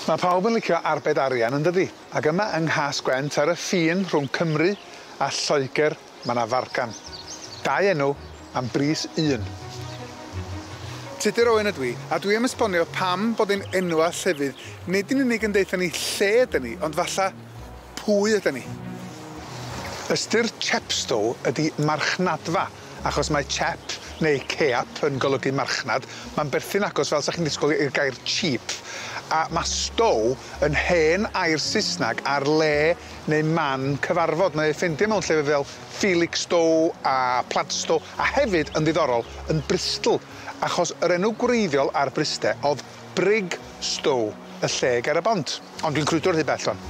Ma' pawb yn licio arbed arian yndydi? Ac yma yng Nghas-gwent ar y ffin rhwng Cymru a Lloegr ma' 'na fargan. Dau enw am bris un. Tudur Owen ydw i, a dwi am esbonio pam bod ein enwa' llefydd nid yn unig yn deutha ni lle ydan ni, ond falla pwy ydan ni. Ystyr Chepstow ydi marchnadfa, achos mae chep neu ceap yn golygu marchnad, ma'n berthyn agos fel 'sa chi'n disgwyl i'r gair cheap, a ma' stow yn hen air Saesnag ar le neu man cyfarfod. Mae ei ffeindio mewn llefydd fel Felixstowe a Plaistow a hefyd yn ddiddorol yn Bristol, achos yr enw gwreiddiol ar Bryste o'dd Brigstow, y lle ger y bont. Ond dwi'n crwydro rhy bell ŵan.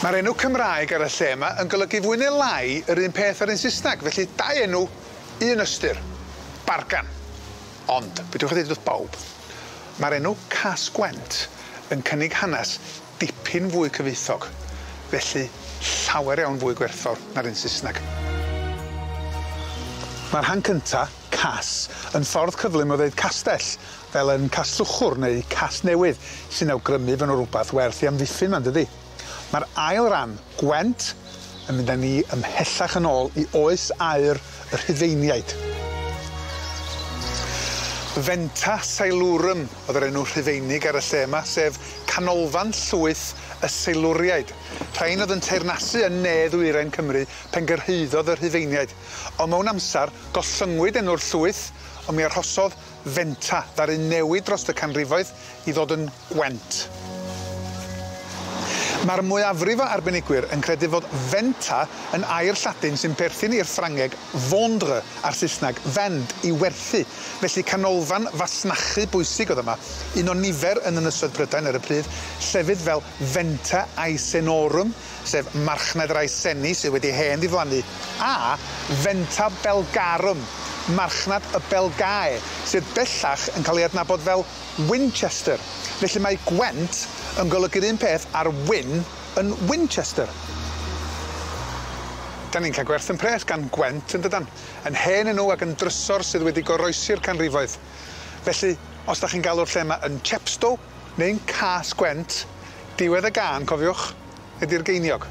Ma'r enw Cymraeg ar y lle yma yn golygu fwy neu lai yr un peth â'r un Saesneg, felly dau enw, un ystyr. Bargan. Ond, be' dwi ddeud wrth bawb, ma'r enw Cas-gwent yn cynnig hanes dipyn fwy cyfoethog, felly llawer iawn fwy gwerthfawr na'r un Saesneg. Ma'r rhan cynta, Cas, yn ffordd cyflym o ddeud castell, fel yn Casllwchwr neu Casnewydd, sy'n awgrymu fo' 'na rwbath werth 'i amddiffyn 'ma yndydi? Ma'r ail ran, Gwent, yn mynd â ni ymhellach yn ôl i oes aur y Rhufeiniaid. Venta Silurum o'dd yr enw Rhufeinig ar y lle yma, sef canolfan llwyth y Seilwriaid. Rhain o'dd yn teyrnasu yn ne ddwyrain Cymru pen gyrhaeddodd y Rhufeiniaid. On' mewn amsar, gollyngwyd enw'r llwyth, on' mi arhosodd Venta ddaru newid drost y canrifoedd i ddod yn Gwent. Ma'r mwyafrif o arbenigwyr yn credu fod Venta yn air Lladin sy'n perthyn i'r Ffrangeg vendre a'r Saesneg vend, i werthu. Felly canolfan fasnachu bwysig o'dd yma, un o nifer yn Ynysoedd Prydain ar y pryd, llefydd fel Venta Aesenorum, sef marchnad yr Aeseni sydd wedi hen ddiflannu, a Venta Belgarum, marchnad y Belgae, sydd bellach yn cael ei adnabod fel Winchester. Felly mae Gwent yn golygu'r un peth a'r wyn yn Winchester. 'Dan ni'n cael gwerth 'yn pres gan Gwent yn dydan? Yn hen enw ac yn drysor sydd wedi goroesi'r canrifoedd. Felly, os 'dach chi'n galw'r lle 'ma yn Chepstow neu'n Cas-gwent, diwedd y gân, cofiwch, ydi'r geiniog.